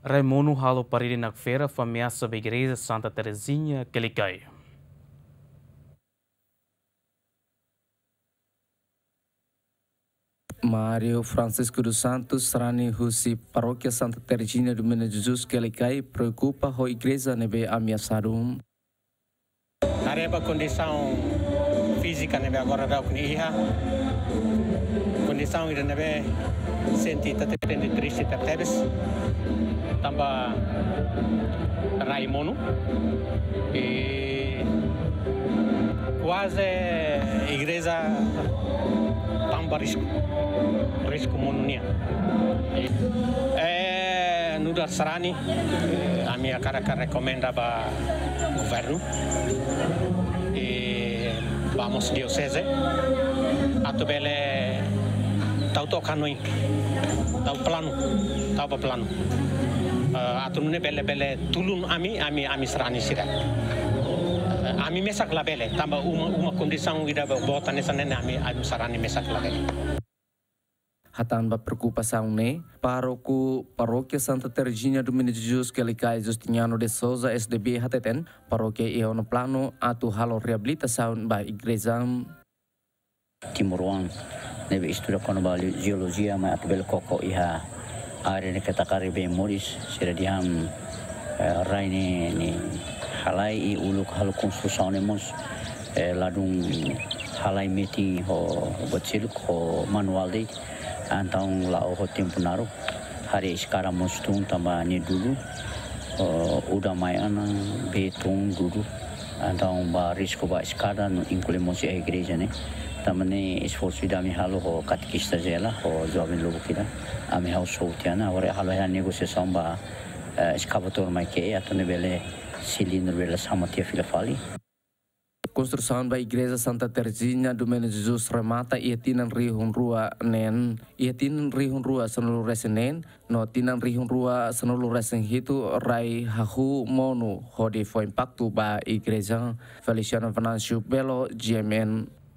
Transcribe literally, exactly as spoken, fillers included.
Rai monu halo parede nakfera fó ameasa ba Igreja Santa Terezinha Kelikai. Mário Francisco dos Santos, sarani husi Parókia Santa Terezinha do Menino Jesus Kelikai, preokupa ho igreja ne'ebé ameasadu. Haree ba kondisaun fízika ne'ebé agora daudaun ne'e iha. Kondisaun ida ne'ebé sente ita sente triste tebetebes. Tanba rai monu. I kuaze igreja tanba risku. Risku monu nian. Eh, nu'udar sarani, eh, ami hakarak rekomenda ba governu i ba mós dioseze atu bele tau toka noi, tau planu, tau ba planu. Eh, atu nune'e bele, bele tulun ami, ami, ami sarani sira. Eh, ami mesak labele, tanba uma, uma kondisaun ida boot hanesan ne'e ami, ami sarani mesak labele. Hatán ba preokupasaun ne'e, pároku Parókia Santa Terezinha do Menino Jesus Kelikai, Justiniano de Souza S D B, hateten, parókia iha ona planu atu halo reabilitasaun ba igreja. Timoroan ne'ebé estuda kona-ba jeolojia mai atu bele koko iha área ne'e katak rai bee moris, sira dehan, eh, rai ne'e, ne'e halai i uluk halo konstrusaun ne'e mós, eh, ladún halai metin ho buat seluk ho manuál de'it. Entaun la'o ho tempu naruk, haree eskada mós tun tanba ne'e dudu, eh, udan mai ona bee tun dudu. Entaun ba risku ba eskada no inklui mós iha igreja ne'e. Tanba ne'e esforsu ida ami halo ho katekista Zela, ho joven lubuk ida. Ami hau sou tiha ona, agora halo iha negosiasaun ba, eh, eskavadór mai ke'e atu nune'e bele silindru bele sama tiha fila fali. Konstrusaun ba Igreja Santa Terezinha do Menino Jesus remata iha tinan rihun rua neen, iha tinan rihun rua sanulu resin neen, no tinan rihun rua sanulu resin hitu rai hahú monu hodi fó impaktu ba igreja. Feliciano Venâncio Belo, G M N.